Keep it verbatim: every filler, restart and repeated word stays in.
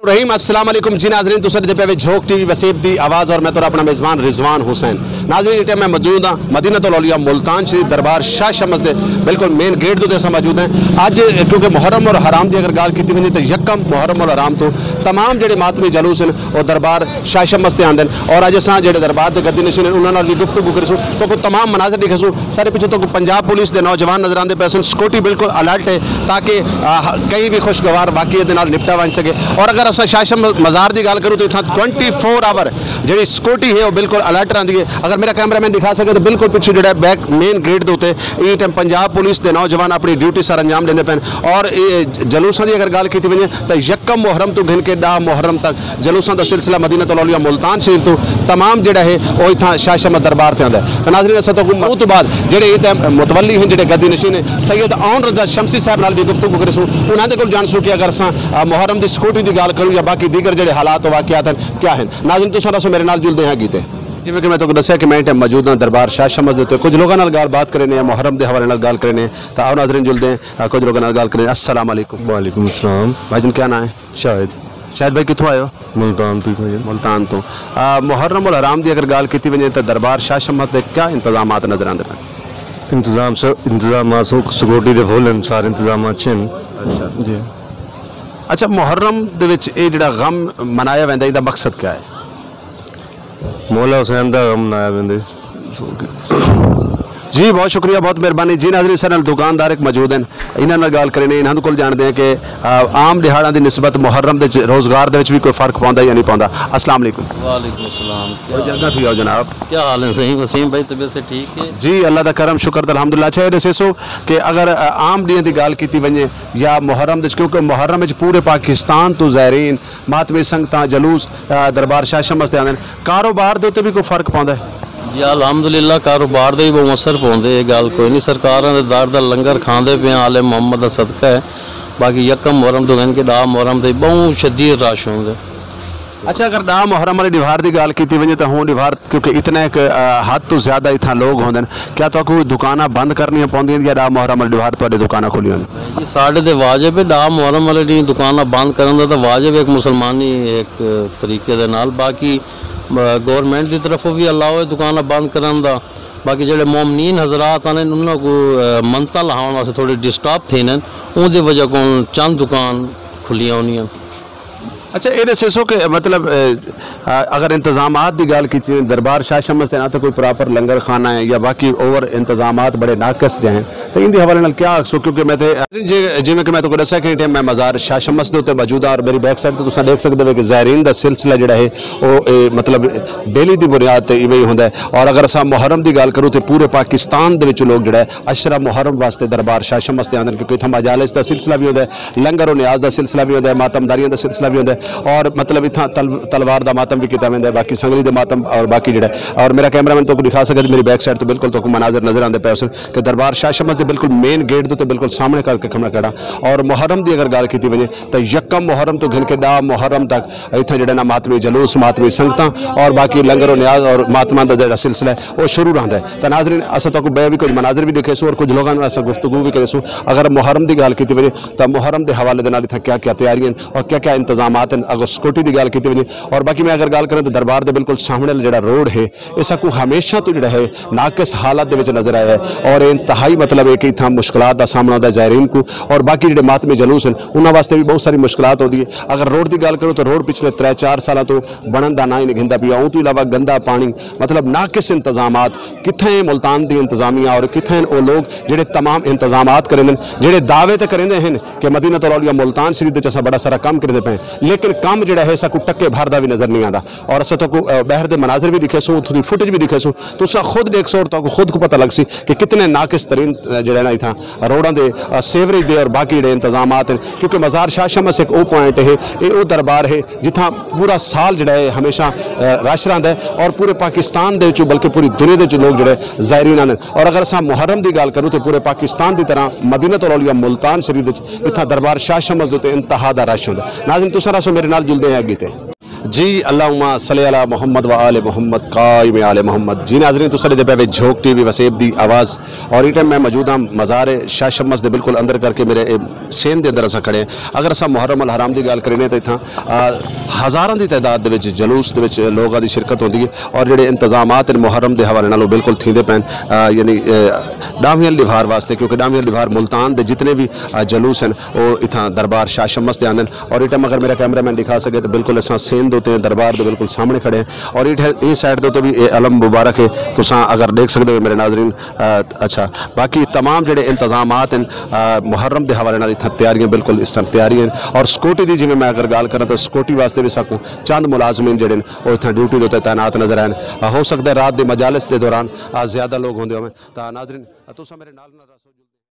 رحیم، السلام علیکم جی ناظرین، تساں ݙیہدے پئے وے جھوک ٹی وی وسیب دی آواز اور میں تہاݙا اپݨا میزبان رضوان حسین۔ ناظرین، اِس ٹائم میں موجود ہاں مدینۃ الاولیاء ملتان شریف دربار شاہ شمس دے بالکل مین گیٹ دے اُتے اساں موجود ہیں۔ اڄ کیونکہ محرم الحرام دی اگر ڳالھ کیتی ونڄے تاں یکم محرم الحرام توں تمام جیڑھے ماتمی جلوس ہن او دربار شاہ شمس تے آندن اور اڄ اساں جیڑھے دربار دے گدی نشین ہن انہاں نال وی گفتگو کریسوں، تہاکوں تمام مناظر ݙکھیسوں۔ سارے پچھوں تہاکوں پنجاب پولیس دے نوجوان نظر آندے پئے ہن، سیکورٹی بالکل الرٹ ہے تاکہ، آ، کہیں وی خوشگوار واقعے دے نال نپٹا ونڄ سڳے۔ اور اگر اساں شاہ شمس مزار دی ڳالھ کروں تاں اتھاں ٹوئنٹی فور آور جیڑھی سیکورٹی ہے او بالکل الرٹ رہندی ہے۔ اگر میرا کیمرہ مین ݙکھا سڳے تاں بالکل پچھوں جیڑھا بیک مین گیٹ دے اُتے ایں ٹائم پنجاب پولیس دے نوجوان اپݨی ڈیوٹی سر انجام ݙیندے پئے ہن۔ اور اے جلوساں دی اگر ڳالھ کیتی ونڄے تاں یکم محرم توں گھن کے ݙاہ محرم تک جلوساں دا سلسلہ مدینۃ الاولیاء ملتان شریف توں تمام جیڑھا ہے او اتھاں شاہ شمس دربار تے آندا ہے۔ تاں ناظرین، اساں تہاکوں اوں توں بعد جیڑھے اتھاں متولی ہن، جیڑھے گدی نشین ہیں، سید عون رضا شمسی صاحب نال وی گفتگو کریسوں، انہاں دے کول ڄاݨسوں کہ اگر اساں، آ، محرم دی سیکورٹی دی ڳالھ کروں یا باقی دیگر جیڑھے حالات و واقعات ہن کیا ہن۔ ناظرین، تساں رہسو میرے نال، جلدے ہیں اڳے تے۔ جیویں کہ میں تہاکوں ݙسیا کہ میں اِس ٹائم موجود ہاں دربار شاہ شمس دے اُتے، کجھ لوکاں نال ڳالھ بات کرینے ہیں، محرم دے حوالے نال ڳالھ کرینے ہیں، تاں آؤ ناظرین جلدے ہیں، آ، کجھ لوکاں نال ڳالھ کرینے ہیں۔ السلام علیکم۔ وعلیکم السلام۔ بھائی جان، کیا ناں ہے؟ شاہد۔ شاہد بھائی، کتھوں آئے ہو؟ ملتان توں بھائی جان۔ ملتان توں۔ آ، محرم الحرام دی اگر ڳالھ کیتی ونڄے تاں دربار شاہ شمس دے کیا انتظامات نظر آندے پئے؟ انتظام سر، انتظامات سو-، سیکورٹی دے فل ہن، سارے انتظامات اچھے ہن۔ اچھا۔ جی۔ اچھا، محرم دے وچ اے جیڑھا غم منایا ویندا، ایندا مقصد کیا ہے؟ مولا حسین دا غم منایا ویندے۔ جی، بہت شکریہ، بہت مہربانی۔ جی ناظرین، سارے نال دکاندار ہک موجود ہیں، انہاں نال ڳالھ کرینے، انہاں دے کول ڄاݨدے ہیں کہ، آ، عام ݙیہاڑاں دی نسبت محرم دے وچ روزگار دے وچ وی کوئی فرق پوندا یا نہیں پوندا۔ السلام علیکم۔ وعلیکم السلام۔ کیا بڑی حال جلدی ہے؟ تھی آؤ جناب۔ کیا حال ہے صحیح وسیم بھائی، طبیعت سے ٹھیک ہے؟ جی، اللہ دا کرم، شکر تے الحمدللہ۔ اچھا، اے ݙسیسو کہ اگر، آ، عام ݙینہاں دی ڳالھ کیتی ونڄے یا محرم دے وچ، کیونکہ محرم وچ پورے پاکستان توں زائرین ماتمی سنگتاں جلوس، آ، دربار شاہ شمس تے آندے ہن۔ کاروبار دے اُتے وی کوئی فرق پوندا ہے؟ جی الحمدللہ، کاروبار دے وی ٻہوں اثر پوندے، اے ڳالھ کوئی نہیں۔ سرکاراں دے در دا لنگر کھاندے پئے ہیں، آل محمد دا صدقہ ہے۔ باقی یکم محرم توں گھن کے ݙاہ محرم تائیں ٻہوں شدید رش ہوندے۔ اچھا، اگر ݙاہ محرم والے ݙیہاڑ دی ڳالھ کیتی ونڄے تاں ہوں ݙیہاڑ کیونکہ اتنے ہک، آ، حد توں زیادہ اتھاں لوگ ہوندے ہن، کیا تہاکوں دکاناں بند کرنیاں پوندیاں یا ݙاہ محرم والے ݙیہاڑ تہاݙے دکاناں کھلیاں ہوندیاں؟ جی، ساݙے تے واجب ہے، ݙاہ محرم والے ݙینہہ دکاناں بند کرݨ دا تاں واجب ہے ہک مسلمانی ہک طریقے دے نال۔ باقی، آ، گورنمنٹ دی طرفوں وی الاؤ ہے دکاناں بند کرݨ دا۔ باقی جیڑھے مومنین حضرات ہن، انہاں کوں، آ، منتاں لہاوݨ واسطے تھوڑی ڈسٹرب تھیندن، اوندی وجہ کوں چند دکان کھلیاں ہوندیاں۔ اچھا، اے ݙسیسو کہ مطلب، آ، آ، اگر انتظامات دی ڳالھ کیتی ونڄے، دربار شاہ شمس دے ناں تے کوئی پراپر لنگر خانہ ہے یا باقی اور انتظامات بڑے ناقص جے ہیں، تاں ایندے حوالے نال کیا آکھسو؟ کیونکہ میں تے، جی، جیویں کہ میں تہاکوں ݙسیا کہ اے ٹائم میں مزار شاہ شمس دے اُتے موجود ہاں اور میری بیک سائیڈ تے تساں ݙیکھ سڳدے ہو کہ زائرین دا سلسلہ جیڑھا ہے او، اے، مطلب ڈیلی دی بنیاد تے ایویں ہی ہوندا ہے۔ اور اگر اساں محرم دی ڳالھ کروں تے پورے پاکستان دے وچوں لوگ جیڑھا ہے عشرہ محرم واسطے دربار شاہ شمس تے آندن، کیونکہ اتھاں مجالس دا سلسلہ وی ہوندا ہے، لنگر و نیاز دا سلسلہ وی ہوندا ہے، ماتم داریاں دا سلسلہ وی ہوندا ہے، اور مطلب اتھاں تل-، تلوار دا ماتم وی کیتا ویندا ہے، باقی سنگلی دے ماتم اور باقی جیڑھا ہے۔ اور میرا کیمرہ مین تہاکوں ݙکھا سڳے تے میری بیک سائیڈ تے بالکل تہاکوں مناظر نظر آندے پئے ہوسن کہ دربار شاہ شمس دے بالکل مین گیٹ دے اُتے بالکل سامݨے کر کے کھڑا کھڑا۔ اور محرم دی اگر ڳالھ کیتی ونڄے تاں یکم محرم توں گھن کے ݙاہ محرم تک اتھاں جیڑھا نا ماتمی جلوس، ماتمی سنگتاں اور باقی لنگر و نیاز اور ماتماں دا جیڑھا سلسلہ ہے او شروع رہندا ہے۔ تاں ناظرین، اساں تہاکوں ٻئے وی کجھ مناظر وی ݙکھیسوں اور کجھ لوکاں نال اساں گفتگو وی کریسوں۔ اگر محرم دی ڳالھ کیتی ونڄے تاں محرم دے حوالے دے نال اتھاں کیا کیا تیاریاں ہن اور کیا کیا انتظامات ہن، اگر سیکورٹی دی ڳالھ کیتی ونڄے اور باقی میں اگر ڳالھ کراں تاں دربار دے بالکل سامݨے والا جیڑھا روڈ ہے، اے ساکوں ہمیشہ توں جیڑھا ہے ناقص حالت دے وچ نظر آیا ہے اور اے انتہائی مطلب ہے کہ اتھاں مشکلات دا سامݨا ہوندا ہے زائرین کوں اور باقی جیڑھے ماتمی جلوس ہن انہاں واسطے وی ٻہوں ساری مشکلات ہوندی ہے۔ اگر روڈ دی ڳالھ کروں تاں روڈ پچھلے ترے چار سالاں توں بݨݨ دا ناں ہی نہیں گھندا پیا، اوں توں علاوہ گندا پاݨی، مطلب ناقص انتظامات، کتھاں ہے ملتان دی انتظامیہ اور کتھاں ہن او لوگ جیڑھے تمام انتظامات کریندن، جیڑھے دعوے تے کریندے ہن کہ مدینۃ الاولیاء ملتان شریف دے وچ اساں بڑا سارا کم کریندے پئے ہیں، لیکن کم جیڑھا ہے ساکوں ٹکے بھر دا وی نظر نہیں آندا۔ اور اساں تہاکوں، آ، ٻاہر دے مناظر وی ݙکھیسوں، اتھوں دی فوٹیج وی ݙکھیسوں، تساں خود ݙیکھسو اور تہاکوں خود کوں پتہ لڳسی کہ کتنے ناقص ترین، آ، جیڑھے نا اتھاں روڈاں دے، آ، سیوریج دے اور باقی جیڑھے انتظامات ہیں، کیونکہ مزار شاہ شمس ہک او پوائنٹ ہے، اے او دربار ہے جتھاں پورا سال جیڑھا ہے ہمیشہ، آ، رش رہندا ہے اور پورے پاکستان دے وچوں بلکہ پوری دنیا دے وچوں لوگ جیڑھے زائرین آندے۔ اور اگر اساں محرم دی ڳالھ کروں تے پورے پاکستان دی طرح مدینۃ الاولیاء ملتان شریف وچ اتھاں دربار شاہ شمس دے اُتے انتہا دا رش ہوندا ہے۔ ناظرین، تساں رہسو میرے نال، جلدے ہیں اڳے تے۔ جی، اللہم صلی علی محمد و آل محمد، قائم آل محمد۔ جی ناظرین، تساں ݙیہدے پئے وے جھوک ٹی وی وسیب دی آواز، اور ایں ٹائم میں موجود ہاں مزار شاہ شمس دے بالکل اندر، کر کے میرے اے سین دے اندر اساں کھڑے ہیں۔ اگر اساں محرم الحرام دی ڳالھ کرینے تاں اتھاں، آ، ہزاراں دی تعداد دے وچ جلوس دے وچ لوگاں دی شرکت ہوندی ہے، اور جڑے انتظامات ہیں محرم دے حوالے نال او بالکل تھیندے پئن، آ، یعنی، آ، ݙاہویں ݙیہاڑ واسطے، کیونکہ ݙاہویں ݙیہاڑ ملتان دے جتنے بھی، آ، جلوس ہیں، او اتھاں دربار شاہ شمس تے آندن۔ اور اے ٹائم اگر میرا کیمرہ مین ݙکھا سڳے تاں بالکل اساں سین دے اتے دربار دے بالکل سامݨے کھڑے ہیں۔ اور اے ٹھے-، اے سائیڈ دے اتے بھی اے علم مبارک ہے، تساں اگر ݙیکھ سڳدے ہو میرے ناظرین۔ آ، اچھا، باقی تمام جڑے انتظامات ہیں، آ، محرم دے حوالے نال اتھاں تیاریاں بالکل اس ٹائم تیاری ہیں۔ اور سیکورٹی دی جیویں میں اگر ڳالھ کراں تاں سیکورٹی واسطے بھی ساکوں چند ملازمین جڑے ہیں او اتھاں ڈیوٹی دے اتے تعینات نظر آئے ہیں۔ آ، ہو سڳدا ہے رات دی مجالس دے دوران، آ، زیادہ لوگ ہوندے ہوون۔ تاں ناظرین، آ، تساں میرے نال نال رہسو۔